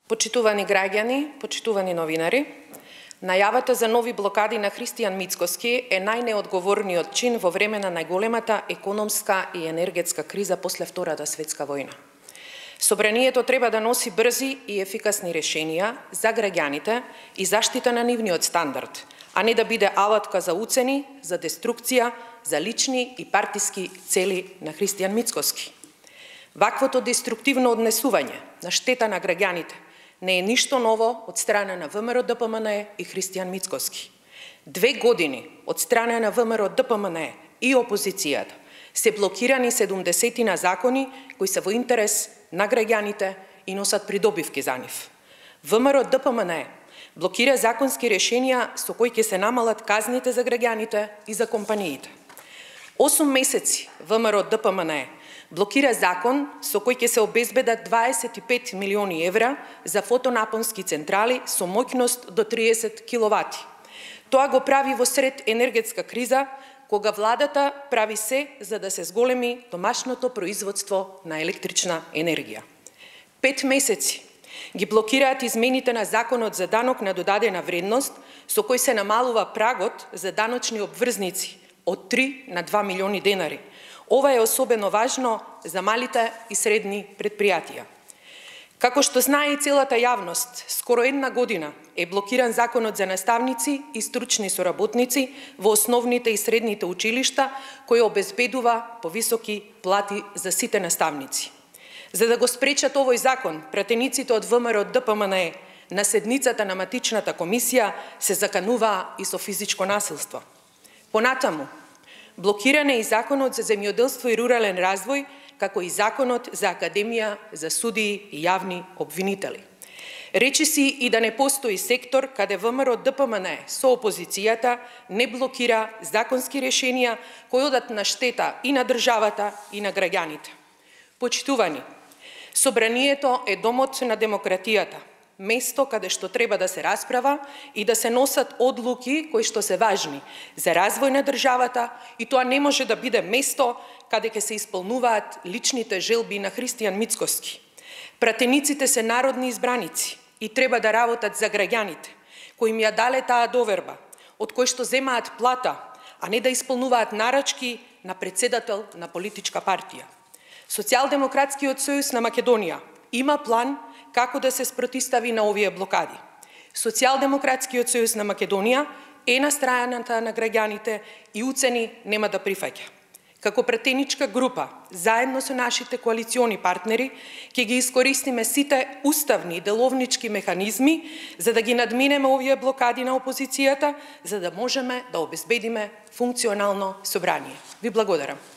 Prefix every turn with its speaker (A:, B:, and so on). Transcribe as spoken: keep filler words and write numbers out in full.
A: Почитувани граѓани, почитувани новинари, најавата за нови блокади на Христијан Мицкоски е најнеодговорниот чин во време на најголемата економска и енергетска криза после Втората светска војна. Собранието треба да носи брзи и ефикасни решенија за граѓаните и заштита на нивниот стандард, а не да биде алатка за уцени, за деструкција, за лични и партиски цели на Христијан Мицкоски. Ваквото деструктивно однесување на штета на граѓаните не е ништо ново од страна на ВМРО-ДПМНЕ и Христијан Мицкоски. Две години од страна на ВМРО-ДПМНЕ и опозицијата се блокирани седумдесетина закони кои се во интерес на граѓаните и носат придобивки за нив. ВМРО-ДПМНЕ блокира законски решенија со кои ќе се намалат казните за граѓаните и за компаниите. Осум месеци ВМРО-ДПМНЕ блокира закон со кој ќе се обезбедат дваесет и пет милиони евра за фотонапонски централи со моќност до триесет киловати. Тоа го прави во сред енергетска криза, кога владата прави се за да се зголеми домашното производство на електрична енергија. Пет месеци ги блокираат измените на Законот за данок на додадена вредност, со кој се намалува прагот за даночни обврзници од три на два милиони денари. Ова е особено важно за малите и средни предпријатија. Како што знае и целата јавност, скоро една година е блокиран Законот за наставници и стручни соработници во основните и средните училишта, кој обезбедува повисоки плати за сите наставници. За да го спречат овој закон, пратениците од ВМРО-ДПМНЕ на седницата на матичната комисија се закануваа и со физичко насилство. Понатаму, блокиран е и Законот за земјоделство и рурален развој, како и Законот за Академија за судии и јавни обвинители. Речи си и да не постои сектор каде ВМРО-ДПМНЕ со опозицијата не блокира законски решенија кои одат на штета и на државата и на граѓаните. Почитувани, Собранието е домот на демократијата, место каде што треба да се расправа и да се носат одлуки кои што се важни за развој на државата, и тоа не може да биде место каде ќе се исполнуваат личните желби на Христијан Мицкоски. Пратениците се народни избраници и треба да работат за граѓаните, кои им ја дале таа доверба, од кои што земаат плата, а не да исполнуваат нарачки на председател на политичка партија. Социјалдемократскиот сојуз на Македонија има план како да се спротистави на овие блокади. Социјалдемократскиот сојуз на Македонија е на страната на граѓаните и уцени нема да прифаќа. Како пратеничка група, заедно со нашите коалициони партнери, ќе ги искористиме сите уставни и деловнички механизми за да ги надминеме овие блокади на опозицијата, за да можеме да обезбедиме функционално собрание. Ви благодарам.